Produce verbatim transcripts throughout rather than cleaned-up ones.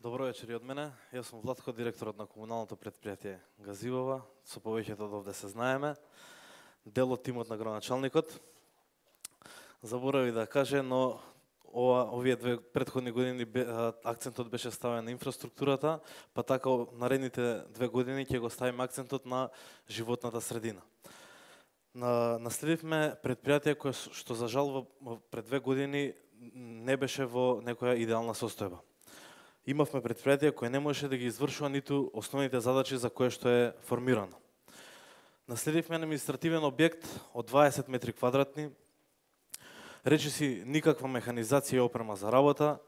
Добро вечер и од мене. Јас сум Владко, директорот на комуналното предпријатие Газивова. Со повеќето од овде се знаеме. Дел од тимот на градоначалникот. Заборави да каже, но ова, овие две претходни години акцентот беше ставен на инфраструктурата, па така наредните две години ќе го ставиме акцентот на животната средина. На, наследивме предпријатие кое што за жал пред две години не беше во некоја идеална состојба. Имавме предпријатие кое не можеше да ги извршува ниту основните задачи за кое што е формирано. Наследивме административен објект од дваесет метри квадратни, речиси никаква механизација и опрема за работа,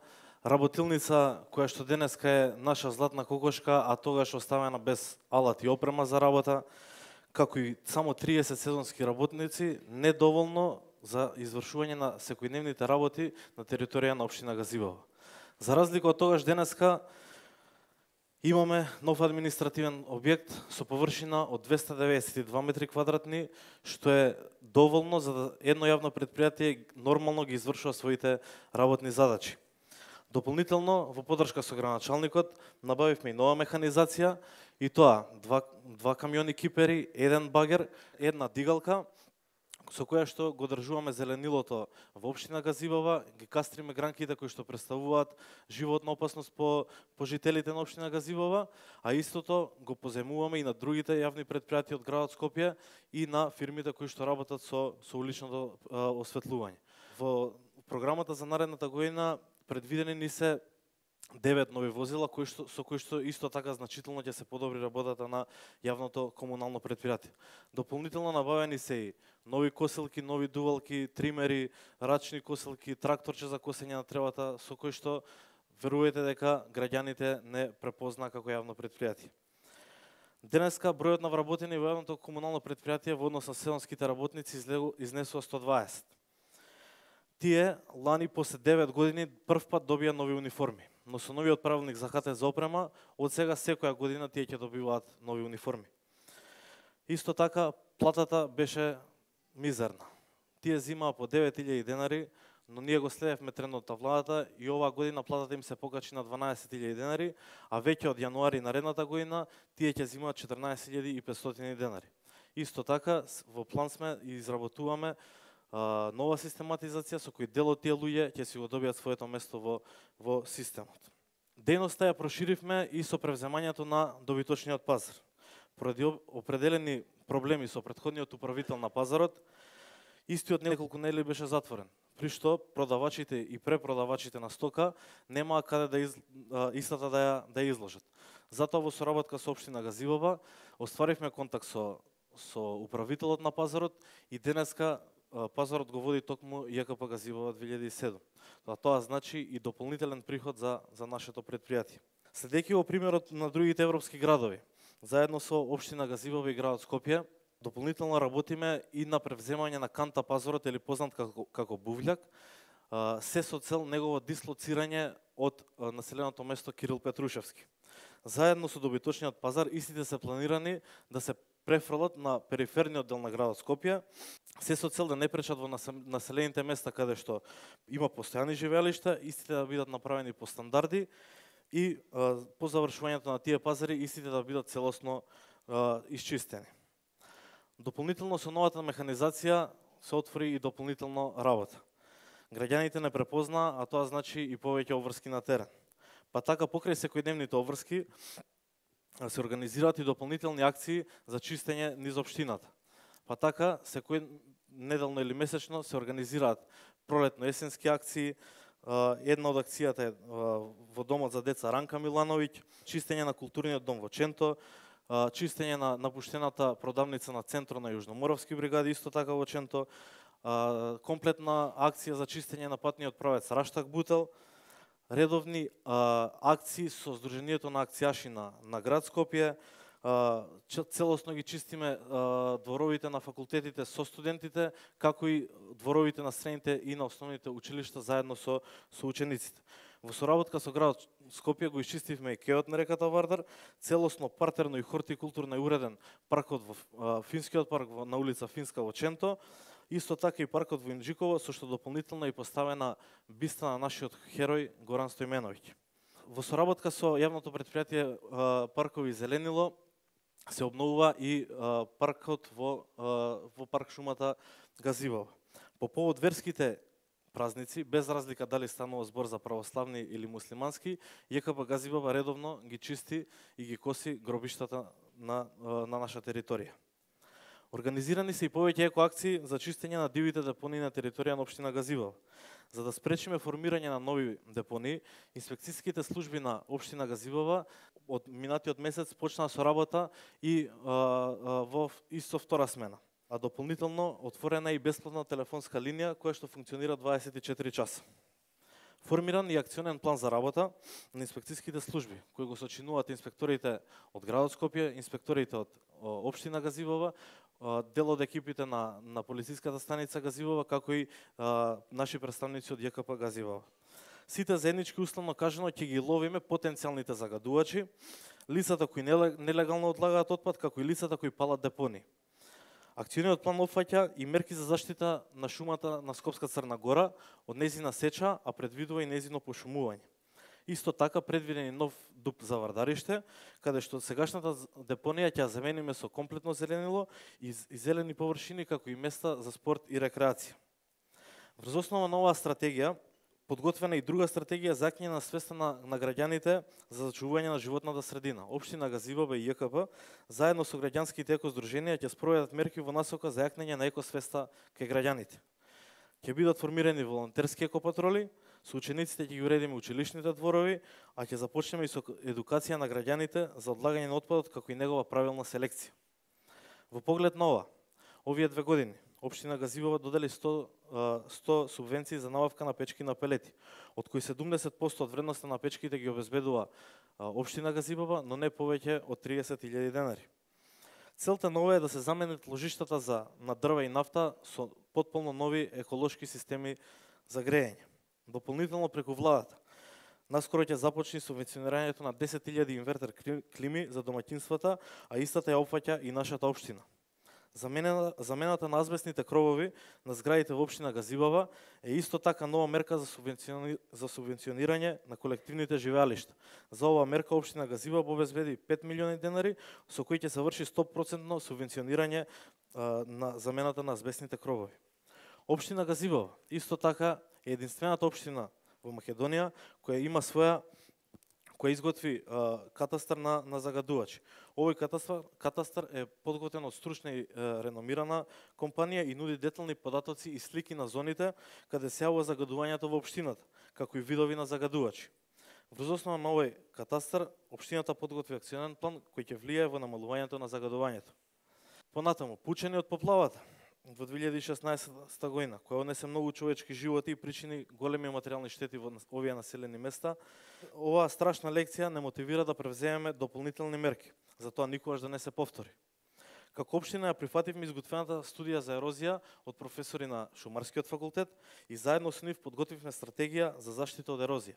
работилница која што денеска е наша златна кокошка, а тогаш оставена без алат и опрема за работа, како и само триесет сезонски работници, недоволно за извршување на секојдневните работи на територија на општина Газивова. За разлика од тогаш, денеска имаме нов административен објект со површина од двесте деветдесет и два метри квадратни, што е доволно за да едно јавно предпријатие нормално ги извршува своите работни задачи. Дополнително, во подршка со градоначалникот, набавивме и нова механизација, и тоа два, два камиони кипери, еден багер, една дигалка, со која што го држуваме зеленилото во општина Газивова, ги кастриме гранките кои што представуваат животна опасност по, по жителите на општина Газивова, а истото го поземуваме и на другите јавни предпријатија од градот Скопје и на фирмите кои што работат со, со уличното а, осветлување. Во програмата за наредната година предвидени ни се девет нови возила кои што, со кои што исто така значително ќе се подобри работата на јавното комунално предпријатие. Дополнително набавени се и нови косилки, нови дувалки, тримери, рачни косилки, тракторче за косење на тревата, со кои што верувајте дека граѓаните не препознаа како јавно предпријатие. Денеска бројот на вработени во јавното комунално предпријатие во однос на сезонските работници изнесува сто дваесет. Тие лани после девет години прв пат добија нови униформи, но со новиот правилник за ХТ за опрема, од сега секоја година тие ќе добиваат нови униформи. Исто така, платата беше мизерна. Тие зимаа по девет илјади денари, но ние го следевме трендот на владата и оваа година платата им се покачи на дванаесет илјади денари, а веќе од јануари наредната година тие ќе зимаат четрнаесет илјади и петстотини денари. Исто така, во план сме и изработуваме нова систематизација со кој дел од тие луѓе ќе си го добијат своето место во, во системот. Дејноста ја проширивме и со превземањето на добиточниот пазар. Поради определени проблеми со претходниот управител на пазарот, истиот неколку недели беше затворен, при што продавачите и препродавачите на стока немаа каде да из, истата да ја, да ја изложат. Затоа во соработка со општина Газивова остваривме контакт со, со управителот на пазарот и денеска пазарот го води токму ЈКП Газивова две илјади и седум. Тоа, тоа значи и дополнителен приход за, за нашето предпријатие. Следејќи во примерот на другите европски градови, заедно со општина Газивова и градот Скопје, дополнително работиме и на превземање на канта пазарот или познат како, како бувљак, се со цел негово дислоцирање од населеното место Кирил Петрушевски. Заедно со добиточниот пазар, истите се планирани да се префрлат на периферниот дел на градот Скопје, се со цел да не пречат во населените места каде што има постојани живеелишта, истите да бидат направени по стандарди и а, по завршувањето на тие пазари истите да бидат целосно а, исчистени. Дополнително со новата механизација се отвори и дополнително работа. Граѓаните не препознаа, а тоа значи и повеќе обврски на терен. Па така покрај секојдневните обврски се организираат и дополнителни акции за чистење низ општината. Па така, секој неделно или месечно се организираат пролетно-есенски акции. Една од акцијата е во домот за деца Ранка Милановиќ, чистење на културниот дом во Ченто, чистење на напуштената продавница на центро на Јужноморовски бригади, исто така во Ченто, комплетна акција за чистење на патниот правец Раштак Бутел, редовни а, акции со Сдруженијето на акцијаши на, на град Скопје, а, целосно ги чистиме а, дворовите на факултетите со студентите, како и дворовите на средните и на основните училишта заедно со, со учениците. Во соработка со градот Скопје го исчистивме и кеот на реката Вардар, целосно партерно и хортикултурно и уреден паркот во а, Финскиот парк во, на улица Финска во Ченто, исто така и паркот во Инџиково, со што дополнително и поставена биста на нашиот херој Горан Стојменовиќ. Во соработка со јавното предпријатие Паркови Зеленило се обновува и паркот во во парк шумата Газивово. По повод верските празници, без разлика дали станува збор за православни или муслимански, ЈКП Газивово редовно ги чисти и ги коси гробиштата на на наша територија. Организирани се и повеќе екоакции за чистење на дивите депонии на територија на општина Газивово. За да спречиме формирање на нови депонии, инспекцијските служби на општина Газивово од минатиот месец почнаа со работа и а, а, во исто втора смена. А дополнително отворена е и бесплатна телефонска линија која што функционира дваесет и четири часа. Формиран и акционен план за работа на инспекцијските служби, кои го сочинуваат инспекторите од градот Скопје, инспекторите од општина Газивово, дел од екипите на на полициската станица Газивово, како и а, наши представници од ЈКП Газивово. Сите заеднички условно кажано ќе ги ловиме потенцијалните загадувачи, лицата кои нелегално одлагаат отпад, како и лицата кои палат депонии. Акциониот план опфаќа и мерки за заштита на шумата на Скопска Црна Гора од нејзина сеча, а предвидува и нејзино пошумување. Исто така предвиден и нов дуп за вардариште, каде што сегашната депонија ќе замениме со комплетно зеленило и зелени површини, како и места за спорт и рекреација. Врз основа на оваа стратегија подготвена и друга стратегија за јакнење на свеста на, на граѓаните за зачувување на животната средина. Општина Газивово и ЈКП заедно со граѓанските екоздруженија ќе спроведат мерки во насока за јакнење на екосвеста кај граѓаните. Ќе бидат формирани волонтерски екопатроли, со учениците ќе ги уредиме училишните дворови, а ќе започнеме и со едукација на граѓаните за одлагање на отпадот како и негова правилна селекција. Во поглед на ова, овие две години општина Газивово додели сто, сто субвенции за набавка на печки на пелети, од кои седумдесет проценти од вредноста на печките ги обезбедува општина Газивово, но не повеќе од триесет илјади денари. Целта на ова е да се заменат ложиштата за на дрва и нафта со потполно нови еколошки системи за грејење. Дополнително преку владата, наскоро ќе започне субвенционирањето на десет илјади инвертер клими за домаќинствата, а истата ја опфаќа и нашата општина. Замена, замената на азбестните кровови на зградите во општина Газивово е исто така нова мерка за, субвенциони, за субвенционирање на колективните живеалишта. За оваа мерка општина Газивово обезбеди пет милиони денари, со кои ќе се врши сто проценти субвенционирање а, на замената на азбестните кровови. Општина Газивово исто така е единствената општина во Македонија која има своја која изготви а, катастар на, на загадувачи. Овој катастар, катастар е подготвен од стручна и а, реномирана компанија и нуди детални податоци и слики на зоните каде се јавува загадувањето во општината, како и видови на загадувачи. Врз основа на овој катастар, општината подготви акционен план кој ќе влијае во намалувањето на загадувањето. Понатаму, пучени од поплавата во две илјади и шеснаесетта година, која однесе многу човечки животи и причини големи материјални штети во овие населени места, оваа страшна лекција не мотивира да превземеме дополнителни мерки, затоа никогаш да не се повтори. Како општина ја прифативме изготвената студија за ерозија од професори на Шумарскиот факултет и заедно со нив подготвивме стратегија за заштита од ерозија.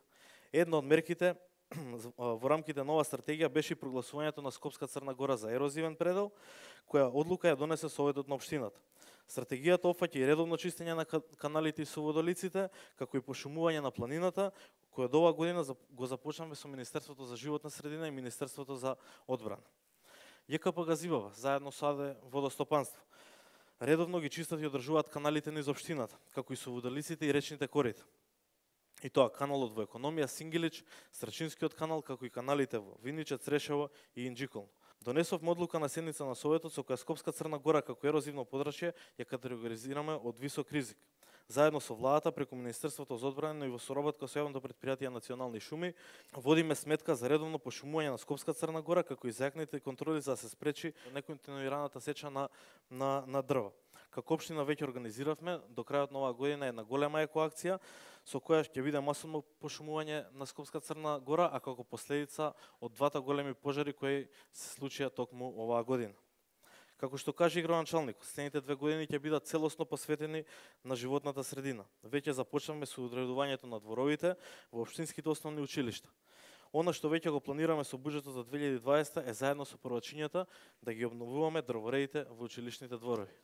Една од мерките во рамките на оваа стратегија беше и прогласувањето на Скопска Црна Гора за ерозивен предел, која одлука ја донесе Советот на општината. Стратегијата опфаќа и редовно чистење на каналите и соводолиците, како и пошумување на планината, која до оваа година го започнаме со Министерството за животна средина и Министерството за одбрана. ЈКП Газивово, заедно со АД Водостопанство, редовно ги чистат и одржуваат каналите низ општината, како и соводолиците и речните корита. И тоа каналот во Економија, Сингилич, Страчинскиот канал, како и каналите во Виниче, Црешево и Инџиколно. Донесовме одлука на седница на Советот со која Скопска Црна Гора како ерозивно подрачје ја категоризираме од висок ризик. Заедно со владата преку Министерството за одбрана и во соработка со јавното предпријатие Национални шуми водиме сметка за редовно пошумување на Скопска Црна Гора, како и зајакните контроли за да се спречи неконтинуираната сеча на на на дрва. Како општина веќе организиравме до крајот на оваа година една голема екоакција со која ќе биде масовно пошумување на Скопска Црна Гора, а како последица од двата големи пожари кои се случија токму оваа година. Како што каже и градоначалникот, следните две години ќе бидат целосно посветени на животната средина. Веќе започнавме со одредувањето на дворовите во општинските основни училишта. Она што веќе го планираме со буџетот за две илјади и дваесетта е заедно со првачињата да ги обновуваме дрворедите во училишните дворови.